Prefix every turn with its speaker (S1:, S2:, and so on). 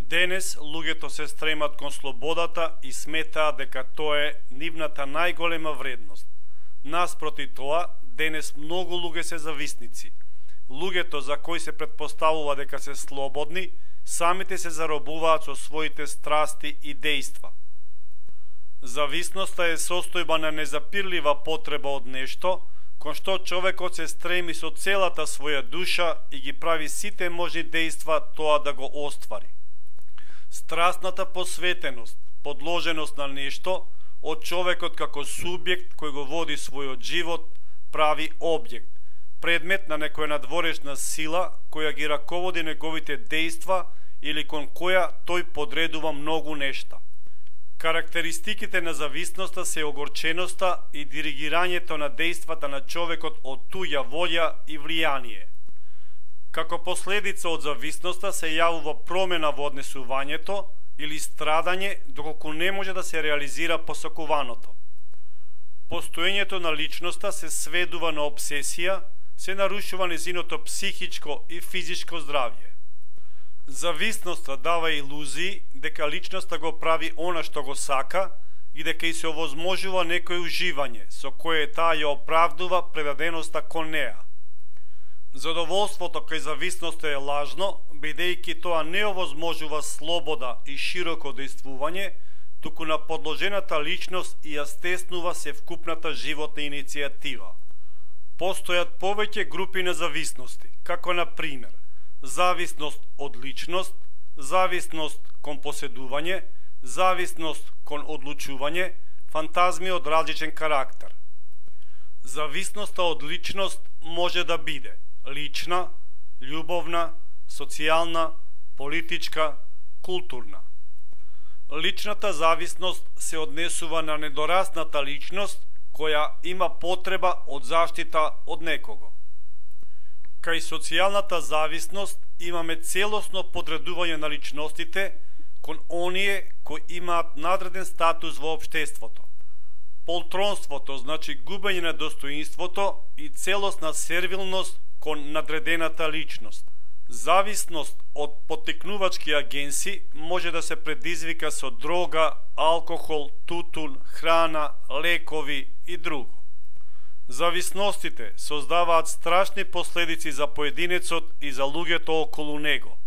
S1: Денес луѓето се стремат кон слободата и сметаат дека тоа е нивната најголема вредност. Наспроти тоа, денес многу луѓе се зависници. Луѓето за кои се претпоставува дека се слободни, самите се заробуваат со своите страсти и дејства. Зависноста е состојба на незапирлива потреба од нешто, кон што човекот се стреми со целата своја душа и ги прави сите можни дејства тоа да го оствари. Страстната посветеност, подложеност на нешто, од човекот како субјект кој го води својот живот, прави објект, предмет на некоја надворешна сила која ги раководи неговите дејства или кон која тој подредува многу нешта. Карактеристиките на зависноста се огорченоста и диригирањето на дејствата на човекот од туѓа волја и влијание. Како последица од зависноста се јавува промена во однесувањето или страдање доколку не може да се реализира посакуваното. Постоењето на личноста се сведува на обсесија, се нарушува незиното психичко и физичко здравје. Зависноста дава илузии дека личноста го прави она што го сака и дека и се овозможува некој уживање со кое таа ја оправдува предаденоста кон неа. Задоволството кај зависноста е лажно, бидејќи тоа не овозможува слобода и широко дејствување, туку на подложената личност и ја стеснува севкупната животна иницијатива. Постојат повеќе групи на зависности, како на пример зависност од личност, зависност кон поседување, зависност кон одлучување, фантазми од различен карактер. Зависноста од личност може да биде лична, љубовна, социјална, политичка, културна. Личната зависност се однесува на недорасната личност која има потреба од заштита од некого. Кај социјалната зависност имаме целосно подредување на личностите кон оние кои имаат надреден статус во општеството. Полтронството значи губење на достоинството и целосна сервилност кон надредената личност. Зависност од поттикнувачки агенси може да се предизвика со дрога, алкохол, тутун, храна, лекови и друго. Зависностите создаваат страшни последици за поединецот и за луѓето околу него.